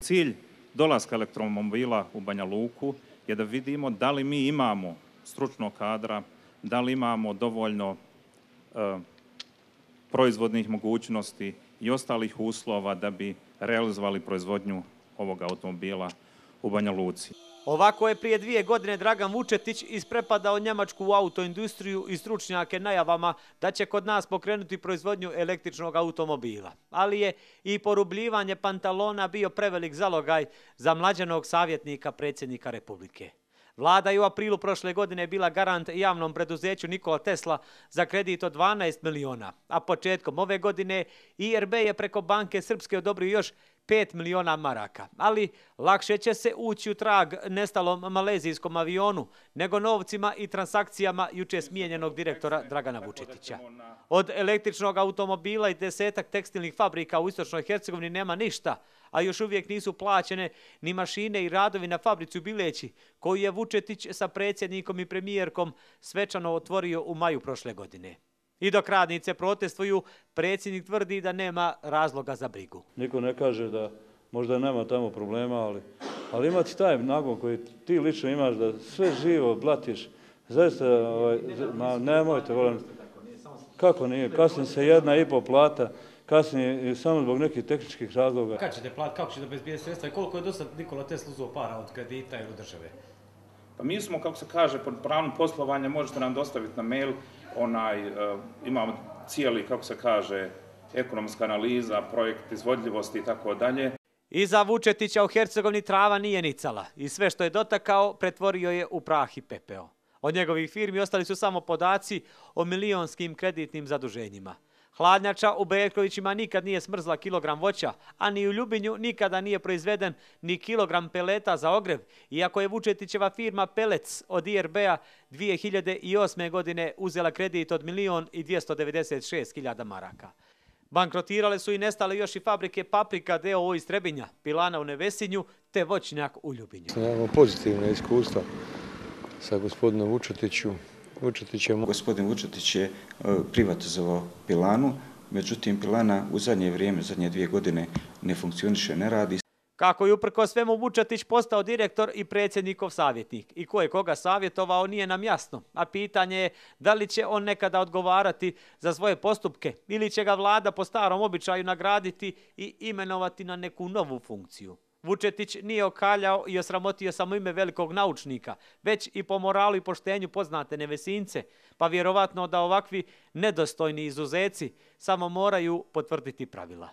Cilj dolaska elektromobila u Banja Luku je da vidimo da li mi imamo stručnog kadra, da li imamo dovoljno proizvodnih mogućnosti i ostalih uslova da bi realizovali proizvodnju ovog automobila u Banja Luci. Ovako je prije 2 godine Dragan Vučetić isprepadao njemačku autoindustriju i stručnjake najavama da će kod nas pokrenuti proizvodnju električnog automobila. Ali je i porubljivanje pantalona bio prevelik zalogaj za mlađanog savjetnika predsjednika Republike. Vlada je u aprilu prošle godine bila garant javnom preduzeću Nikola Tesla za kredit od 12 miliona, a početkom ove godine IRB je preko Banke Srpske odobrio još 5 miliona maraka. Ali lakše će se ući u trag nestalom malezijskom avionu nego novcima i transakcijama juče smijenjenog direktora Dragana Vučetića. Od električnog automobila i 10 tekstilnih fabrika u istočnoj Hercegovini nema ništa, a još uvijek nisu plaćene ni mašine i radovi na fabrici u Bileći, koju je Vučetić sa predsjednikom i premijerkom svečano otvorio u maju prošle godine. I dok radnice protestuju, predsjednik tvrdi da nema razloga za brigu. Niko ne kaže da možda nema tamo problema, ali imati taj nagon koji ti lično imaš da sve živo blatiš, zaista, nemojte, volim, kako nije, kasnije se 1,5 plata, kasnije samo zbog nekih tehničkih razloga. Kako ćete platiti, kako ćete obezbijediti sredstva i koliko je do sad Nikola Tesla uzeo para od kredita ili od države? Pa mi smo, kako se kaže, pod pravnom poslovanja možete nam dostaviti na mail, imamo cijeli, kako se kaže, ekonomska analiza, projekt izvodljivosti i tako dalje. Iza Vučetića u Hercegovini trava nije nicala i sve što je dotakao pretvorio je u prah i pepeo. Od njegovih firmi ostali su samo podaci o milionskim kreditnim zaduženjima. Hladnjača u Berkovićima nikad nije smrzla kilogram voća, a ni u Ljubinju nikada nije proizveden ni kilogram peleta za ogrev, iako je Vučetićeva firma Pelec od IRB-a 2008. godine uzela kredit od 1.296.000 maraka. Bankrotirale su i nestale još i fabrike Paprika d.o.o. iz Trebinja, Pilana u Nevesinju te voćnjak u Ljubinju. Imamo pozitivne iskustva sa gospodinom Vučetićem. Gospodin Vučetić je privatizovao Pilanu, međutim Pilana u zadnje vrijeme, zadnje 2 godine ne funkcioniše, ne radi. Kako je uprkos svemu Vučetić postao direktor i predsjednikov savjetnik i ko je koga savjetovao nije nam jasno, a pitanje je da li će on nekada odgovarati za svoje postupke ili će ga vlada po starom običaju nagraditi i imenovati na neku novu funkciju. Vučetić nije okaljao i osramotio samo ime velikog naučnika, već i po moralu i poštenju poznate Nevesince, pa vjerovatno da ovakvi nedostojni izuzeci samo moraju potvrditi pravila.